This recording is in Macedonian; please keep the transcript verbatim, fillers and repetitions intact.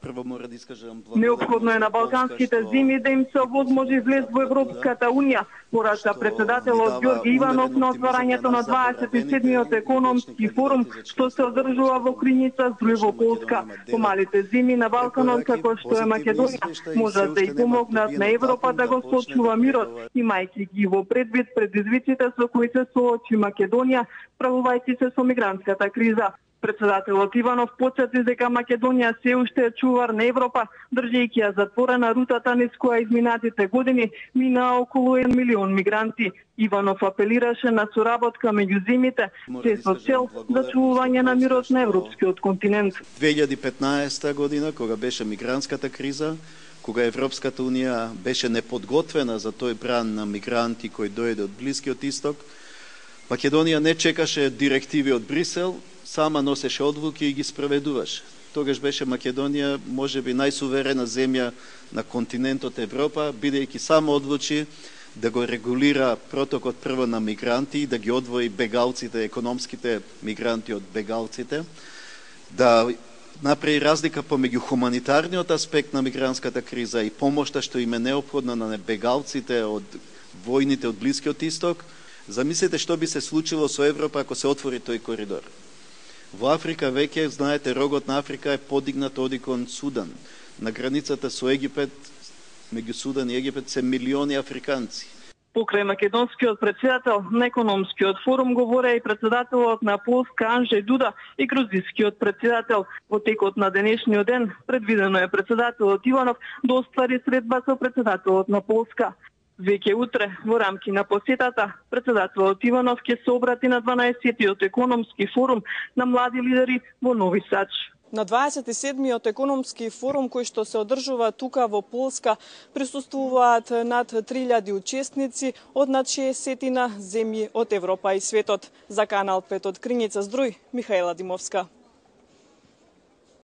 Прво мора да искажам Неопходно е на балканските земи да им се овозможи влез во Европската унија, порача председателот Ѓорги Иванов на отварањето на дваесет и седмиот економски форум, што се одржува во Крињица, Здруј во Полска. Помалите земи на Балканот, како што е Македонија, можат да и помогнат на Европа да го сочува мирот, имајќи ги во предвид предизвиците со кои се соочи Македонија, справувајќи се со мигрантската криза. Председателот Иванов потсети дека Македонија се уште е чувар на Европа, држејќи ја затворена рутата низ која изминатите години мина околу еден милион мигранти. Иванов апелираше на соработка меѓу земите, се со цел зачувување на мирот на европскиот континент. две илјади и петнаесета година, кога беше мигрантската криза, кога Европската унија беше неподготвена за тој бран на мигранти кои дојде од Блискиот исток, Македонија не чекаше директиви од Брисел, сама носеше одлуки и ги спроведуваше. Тогаш беше Македонија можеби најсуверена земја на континентот Европа, бидејќи само одлучи да го регулира протокот прво на мигранти, да ги одвои бегалците, економските мигранти од бегалците, да направи разлика помеѓу хуманитарниот аспект на мигрантската криза и помошта што им е неопходна на бегалците од војните од Блискиот исток. Замислете што би се случило со Европа ако се отвори тој коридор. Во Африка веќе, знаете, рогот на Африка е подигнат оди кон Судан. На границата со Египет, меѓу Судан и Египет, се милиони африканци. Покрај македонскиот председател на економскиот форум говореа и председателот на Полска Анджеј Дуда и грузискиот председател. Во текот на денешниот ден предвидено е председателот Иванов да оствари средба со председателот на Полска. Веќе утре, во рамки на посетата, председателот Иванов ќе се обрати на дванаесеттиот економски форум на млади лидери во Нови Сад. На дваесет и седмиот економски форум кој што се одржува тука во Полска присуствуваат над три илјади учесници од над шеесет земји од Европа и светот. За Канал пет од Крињица Здруј, Михаела Димовска.